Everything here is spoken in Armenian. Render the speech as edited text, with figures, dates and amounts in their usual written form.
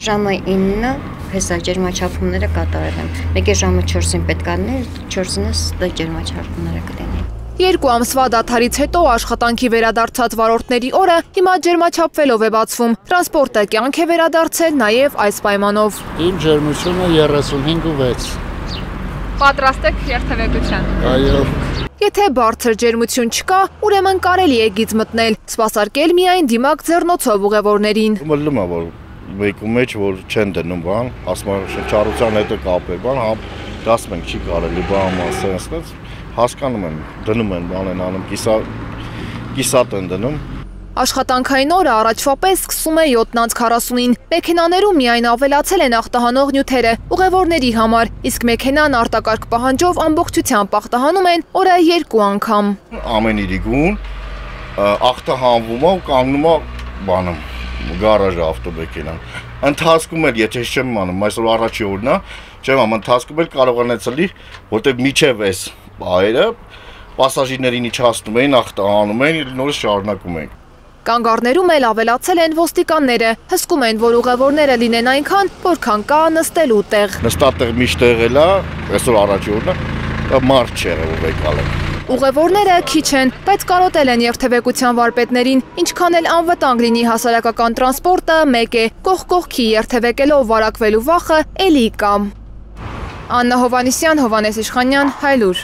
Ժամը 9-ը հեսա ջերմաչափումները կատարել եմ։ Մեկ է ժամը 4-ին պետք է լինի, 4-ին ջերմաչափումները կլինի։ 2 ամսվա դադարից հետո աշխատանքի վերադարձած վարորդների օրը հիմա ջերմաչափվելով է բացվում։ Տրանսպորտը կյանք է վերադարձել նաև այս պայմանով։ Իմ ջերմությունը 35.6։ Պատրաստ եք երթևեկության։ Այո։ Եթե բարձր ջերմություն չկա, ուրեմն կարելի է գիծ մտնել, սպասարկել միայն դիմակ ձեռնոցով ուղևորներին։ Մտնում է, որ մեկու մեջ որ չեն դնում բան, ասում են շնչառության հետ կապ է, բան, դասում ենք չի կարելի բան ասել, հասկանում են, դնում են բան են անում, կիսատ են դնում։ Աշխատանքային օրը առաջվա պես սկսում է 7:40-ին։ Մեքենաներում միայն ավելացել են ախտահանող նյութերը ուղևորների համար, իսկ մեքենան արտակարգ պահանջով ամբողջությամբ ախտահանում են օրը 2 անգամ։ Ամեն իրի գուն ախտահանվում է ու կանգնում է բանում, գարաժը ավտոմեքենան։ Ընթացքում էլ, եթե չեմ անում, այսօր առաջի օրն է, չեմ անում, ընթացքում էլ կարող անեցելի, որտեղ միջև էս բայերը պասաժիրներին իջացնում էին, ախտահանում էին, նորից շարունակում էին։ Կանգառներում էլ ավելացել են ոստիկանները, հսկում են, որ ուղևորները լինեն այնքան, որքան կա նստելու տեղ։ Նստատեղ միշտ եղել է, այսօր առաջի օրն է, մարդ չեղել եկալ է։ Ուղևորները քիչ են, բայց կարոտել են երթևեկության վարպետներին, ինչքան էլ անվտանգ լինի հասարակական տրանսպորտը, մեկ է, կողք կողքի երթևեկելով վարակվելու վախը էլի կա։ Աննա Հովանեսյան, Հովանես Իշխանյան, Հայլուր։